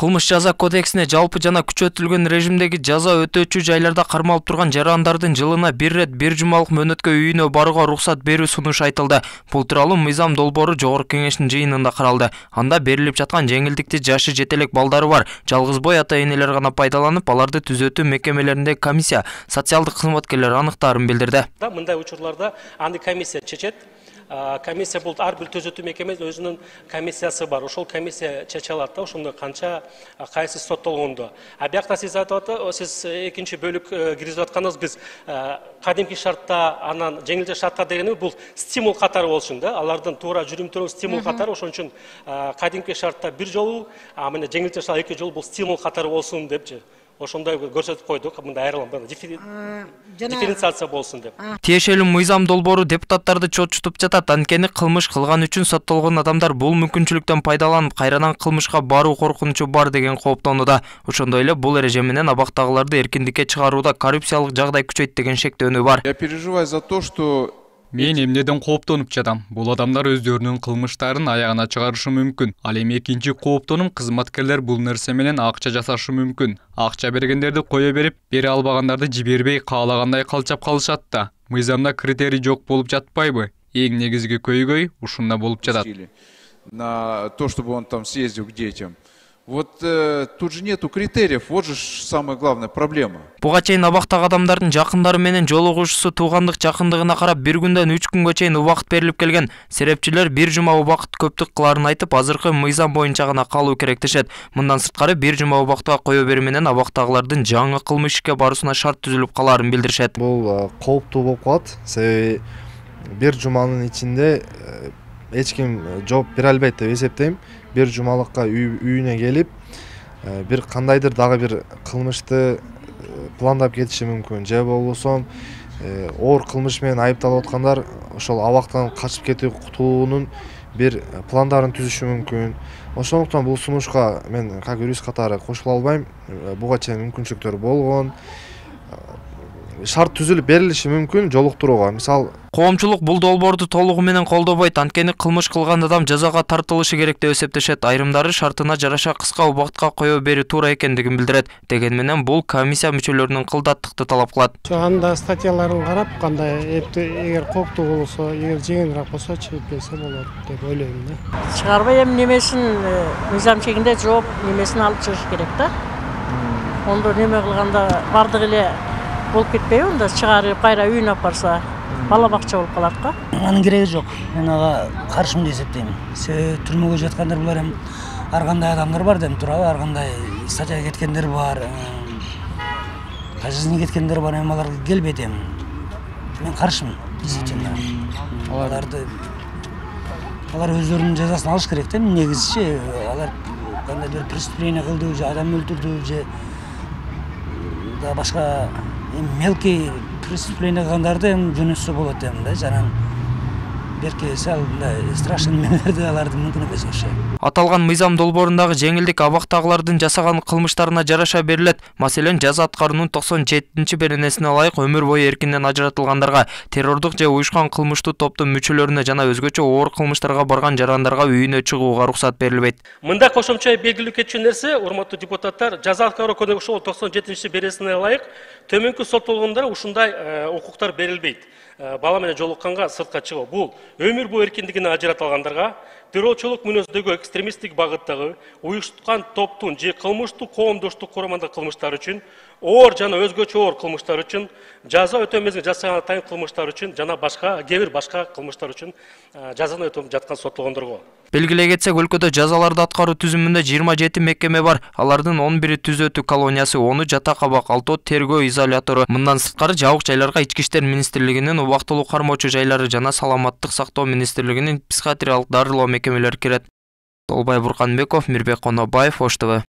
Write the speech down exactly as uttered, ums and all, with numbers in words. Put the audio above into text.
Кылмыш жаза кодексине жалпы жана күчөтүлгөн режимдеги жаза өтөөчү жайларда кармалып турган жарандардын жылына бир рет бир жумалык мөөнөткө үйүнө барууга уруксат берүү сунушу айтылды. Бул тууралуу мыйзам долбоору жогорку кеңештин жыйынында каралды. Анда берилип жаткан жеңилдикти жашы жете элек балдары бар жалгыз бой ата-энелер гана пайдаланып, аларды түзөтүү мекемелеринде комиссия, социалдык кызматкерлер аныктаарын билдирди. Мындай учурларда аны комиссия чечет. Комиссия бул ар бир түзөтүү мекемесинин өзүнүн комиссиясы бар. Ошол комиссия чече алат да, ошондо канча кайсы соттолгондо. А биякта сиз айтып атат, сиз экинчи бөлүк киргизип атканыңыз биз кадимки шартта анан жеңилдүү шартта дегенimiz бул стимул катары болушун да. Алардын туура жүрүм-туруму стимул катары, ошон үчүн кадимки шартта бир жолу, а мына жеңилдүү шартта эки жолу бул стимул катары болсун депчи. Ошондой көрсөтүп койдук, мындай айрылым, дифференциация болсун деп. Тиешелүү мыйзам долбоору депутаттарды чочутуп жатат. Анткени кылмыш кылган үчүн соттолгон адамдар бул мүмкүнчүлүктөн пайдаланып, кайрадан кылмышка баруу коркунучу бар деген кооптонууда. Ошондой эле бул эреже менен абактагыларды эркиндикке чыгарууда коррупциялык жагдай күчөйт деген шектөөнү бар. Я переживаю за то, что Мен эмнеден кооптонуп жатам. Бул адамдар өздөрүнүн кылмыштарын аягына чыгарышы мүмкүн. Ал эми экинчи кооптонум кызматкерлер бул нерсе менен акча жасашы мүмкүн. Акча бергендерди кое берип, бере албагандарды жибербей каалагандай калчап калышат да. Мыйзамда критерий жок болуп жатпайбы? Эң негизги көйгөй ушунда болуп жатат. На то, чтобы он там съездил к детям. Вот э, тут же нету критериев, вот же самая главная проблема. Буга чейин абактагы адамдардын жакындары менен жолугушуусу туугандык жакындыгына карап бир күндөн үч күнгө чейин убакыт берилип келген. Серепчилер бир жума убакыт көптүк кыларын айтып, азыркы мыйзам боюнча гана калуу керек дешет. Мындан сырткары бир жума убакытка кое берүү менен абактагылардын жаңы кылмыш ишке баруусуна шарт түзүлүп калаарын билдиришет. Бул кооптуу болуп калат. Себеби бир жуманын ичинде эч ким жооп бере албайт деп эсептейм. Бир жумалыкка үйүнө келип, бир кандайдыр дагы бир кылмышты пландап кетиши мүмкүн. Же болбосо оор кылмыш менен айыпталып аткандар ошол абактан качып кетүү кутуунун бир пландарын түзүшү мүмкүн. Ошондуктан бул сунушка мен как юрист катары кошула албайм. Буга чейин мүмкүнчүлүктөр болгон. Шарт түзүлүп берилиши мүмкүн жолуктурууга. Мисал, коомчулук бул долбоорду толугу менен колдобойт, анткени кылмыш кылган адам жазага тартылышы керек деп эсептешет. Айрымдары шартына жараша кыска убакытка кое берүү туура экендигин билдирет. Деген менен бул комиссия мүчөлөрүнүн кылдаттыкты талап кылат. Анда статьяларын карап, кандай эпти эгер кооптуу болсо, эгер жеңилирээк болсо чыгып берсе болот деп ойлойм да. Чыгарбай эми немесин мыйзам чегинде жооп немесин алып чыгыш керек да. Ондо неме кылганда бардыгы эле болуп кетпейби, онда чыгарып кайра үйүнө алып барса, бала бакча болуп калат го. Анын кереги жок. Мен ага каршымын деп эсептейм. Себеби түрмөгө жаткандар булар эми ар кандай адамдар бар деп турабы, ар кандай статьяга кеткендер бар, казасына кеткендер бар, эми алар келбейт эми. Мен каршымын действительно. Аларды алар өздөрүнүн жазасын алыш керек да, негизичи алар кандайдыр преступление кылды же адам өлтүрдү же да башка мелкий преступление кылгандарды эми жөнөтсө болот эми да, жанагы берки сал страшный немелерди аларды мүмкүн эмес ошо. Аталган мыйзам долбоорундагы жеңилдик абактагылардын жасаган кылмыштарына жараша берилет. Маселен, жаза аткаруунун токсон жетинчи беренесине ылайык өмүр бою эркинден ажыратылгандарга, террордук же уюшкан кылмыштуу топтун мүчөлөрүнө жана өзгөчө оор кылмыштарга барган жарандарга үйүнө чыгууга уруксат берилбейт. Мындай кошумча белгилүү кетчү нерсе, урматтуу депутаттар, жаза аткаруу кодексинин ошол токсон жетинчи беренесине ылайык төмөнкү соттолгондорго ушундай укуктар берилбейт. Бала менен жолукканга сыртка чыгуу. Бул өмүр бою эркиндигинен ажыратылгандарга, террорчулук мүнөздөгү экстремисттик багыттагы уюштурган топтун же кылмыштуу коомдоштук курамындагы кылмыштар үчүн, оор жана өзгөчө оор кылмыштар үчүн, жаза өтөө мезгилинде жасаган атайын кылмыштар үчүн жана башка кээ бир башка кылмыштар үчүн жазаны өтөп жаткан соттолгондорго. Белгилей кетсек, өлкөдө жазаларды аткаруу түзүмүндө жыйырма жети мекеме бар. Алардын он бири түзөтүү колониясы, onu жата кабак, алтоо тергөө изолятору. Мындан сырткары жабык жайларга Ички иштер министрлигинин убактылуу кармоочу жайлары жана Саламаттык сактоо министрлигинин психиатриялык дарылоо мекемелери кирет. Толбай Бурканбеков, Мирбек Конобаев, Ош ТВ.